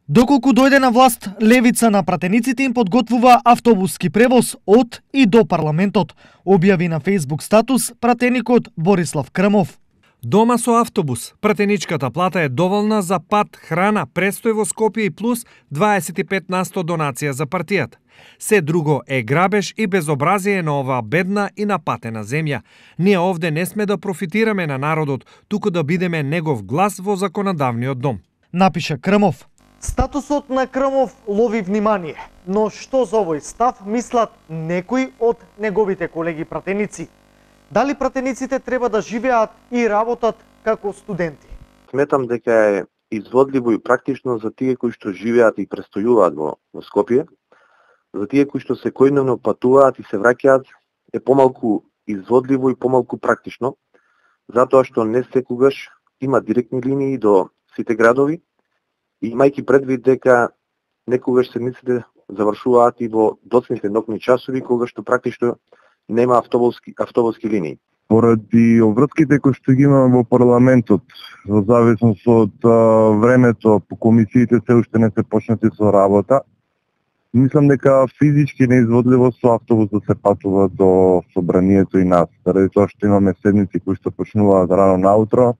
Доколку дојде на власт, левица на пратениците им подготвува автобуски превоз од и до парламентот, објави на Facebook статус пратеникот Борислав Крмов. Дома со автобус, пратеничката плата е доволна за пат, храна, престој во Скопје и плюс 25% донација за партијата. Се друго е грабеж и безобразие на оваа бедна и напатена земја. Ние овде не сме да профитираме на народот, туку да бидеме негов глас во законодавниот дом. Напиша Крмов. Статусот на Крмов лови внимание, но што за овој став мислат некои од неговите колеги пратеници? Дали пратениците треба да живеат и работат како студенти? Сметам дека е изводливо и практично за тие кои што живеат и престојуваат во Скопје. За тие кои што секојдневно патуваат и се враќаат е помалку изводливо и помалку практично, затоа што не секогаш има директни линии до сите градови, и имајќи предвид дека некогаш седмиците завршуваат и во доцните ноќни часови, кога што практично нема автобуски линии. Поради обврските кои што ги имаме во парламентот, во зависност од времето по комисиите се уште не се почнати со работа, мислам дека физички неизводливо со автобус да се патува до собранието и нас, заради тоа што имаме седници кои што почнуваат рано наутро,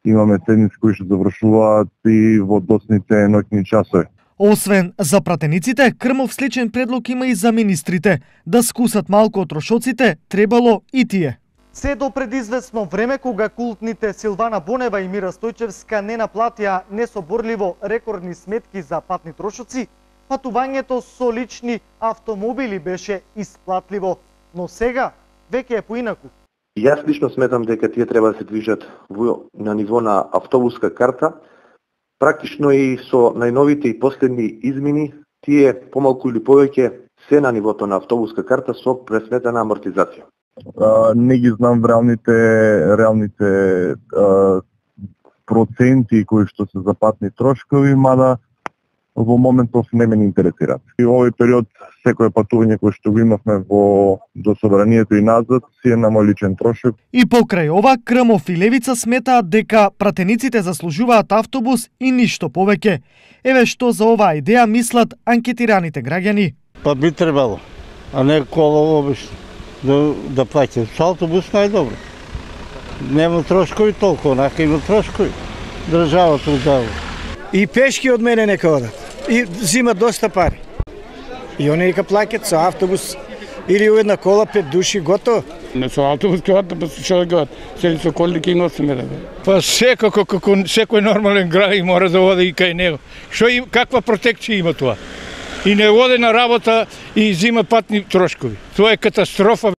имаме седници кои што завршуваат и во доцните ноќни часови. Освен за пратениците, Крмов сличен предлог има и за министрите. Да скусат малку од трошоците, требало и тие. Се до предизвестно време, кога култните Силвана Бонева и Мира Стојчевска не наплатија несоборливо рекордни сметки за патни трошоци, патувањето со лични автомобили беше исплатливо, но сега веќе е поинаку. Јас лично сметам дека тие треба да се движат на ниво на автобуска карта. Практично и со најновите и последни измени, тие помалку или повеќе се на нивото на автобуска карта со пресметена амортизација. Не ги знам реалните проценти кои што се за патни трошкови, мада во моментов не ме интересираат. И овој период секое патување кое што го имавме до собранието и назад си е на мој личен трошок. И покрај ова, Крмов и левица сметаат дека пратениците заслужуваат автобус и ништо повеќе. Еве што за оваа идеја мислат анкетираните граѓани. Па би требало, а не кола обично да плаќа. Со автобус најдобро. Нема трошкови толку, онака има трошкови. Државата узава. И пешки од мене нека одат. И зимат доста пари. И они нека плаќат со автобус или у една кола 5 души готово. Не со автобус ќе одат, па што да гат. Сели со коли ќе носиме да. Па секако како секој нормален граѓанин мора да оди и кај него. Каква протекција има тоа? И не оди на работа и зима патни трошкови. Тоа е катастрофа.